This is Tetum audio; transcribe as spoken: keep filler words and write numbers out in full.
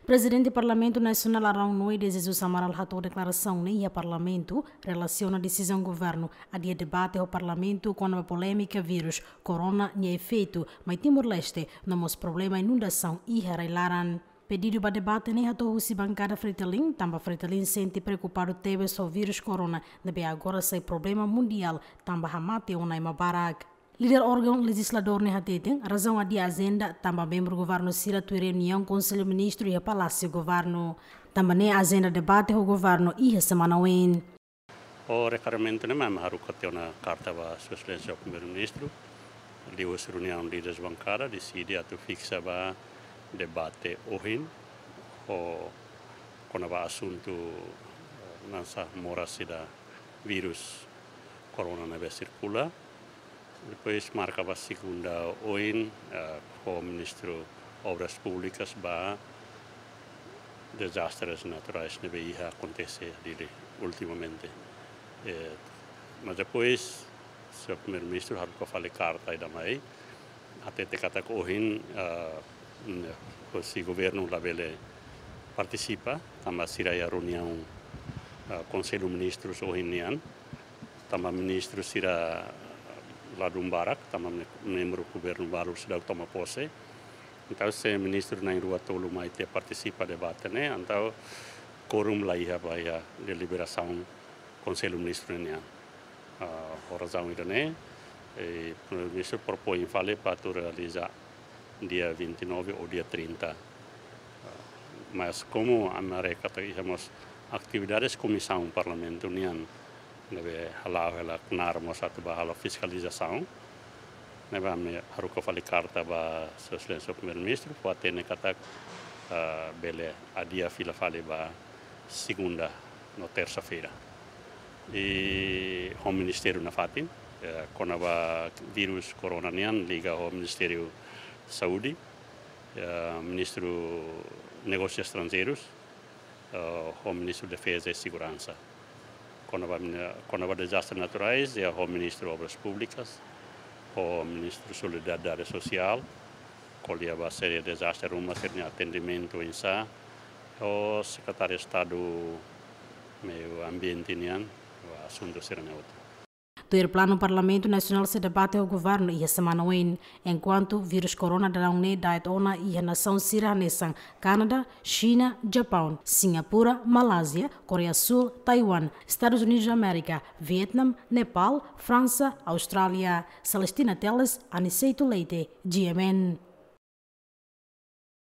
Prezidente Parlamentu Nasionál Araun Noé de Jesus Amaral hato'o deklarasaun ne'e iha Parlamentu relasiona desizaun governu adia debate ho Parlamentu kona-ba polémika vírus Corona nia efeitu mai Timor-Leste, no mós problema inundasaun iha rai-laran. Pedidu ba debate ne'e hato'o husi bankada Fretilin, tanba Fretilin sente preokupadu tebes ho vírus Corona ne'ebé agora sai problema mundiál tanba hamate ona ema barak. Líder órgaun lejizladór ne'e hateten razaun adia ajenda tanba membru governu sira tuir reuniaun Konsellu Ministru iha Palásiu Governu. Tanba ne'e ajenda debate ho governu iha semana oin. Ho reklamamentu ne'e mak ami haruka tiha ona karta ba Sua Exelénsia Primeiru-Ministru, liuhusi reuniaun líderes bankada, deside atu fiksa ba debate ohin ho kona-ba asuntu, eh, hanesan moras ida vírus Corona ne'ebé sirkula. Depois marka ba segunda oin, eh, ho Ministru Obras Públikas ba dezastres naturais ne'ebé iha akontese Dili ultimamente. Eh, mas depois, Sua Primeiru-Ministru haruka fali karta ida mai, hatete katak ohin, eh, husi governu labele partisipa, tanba sira iha reuniaun, eh, Konsellu Ministrus ohin nian, tanba ministru sira ladún barak, tanba me-, membru governu balu seidauk toma pose. Entaun, se ministru na'in-rua tolu mai tiha partisipa debate ne'e, entaun kuorum la iha ba iha deliberasaun Konsellu Ministru nian. Ah, ho razaun ida-ne'e, eh, Primeiru-Ministru propoin fali para atu realiza dia vinte e nove ou dia trinta. Ah, mas komu ami haree katak iha mós atividades komisaun Parlamentu nian ne'ebé hala'o hela knaar mós atu ba halo fiskalizasaun, ne'ebé ami haruka fali karta ba Sua Exelénsia Primeiru-Ministru, fó-hatene katak, ah, bele adia fila fali ba segunda no tersa-feira. I ho ministériu nafatin, eh, kona-ba vírus Corona nian liga ho Ministériu Saúde, eh, Ministru Negósius Estranjeirus, eh, ho Ministru Defeza i Seguransa. Kona-ba mini-, kona-ba dezastres naturais, iha ho Ministru Obras Públikas, ho Ministru Solidariedade Sosiál, ko'alia ba sira dezastre ruma, sira-nia atendimentu oinsá, ho Sekretáriu Estadu Meiu Ambiente nian, ho asuntu sira-ne'e hotu. Tuir planu Parlamentu Nasionál sei debate ho governu iha semana oin, enkuantu vírus Corona daudaun ne'e da'et ona iha nasaun sira hanesan Kanadá, Xina, Japaun, Singapura, Malázia, Koreia Súl, Taiwan, Estadus Unidus Amérika, Vietname, Nepál, Fransa, Austrália. Celestina Teles, Aniceto Leite, G M N.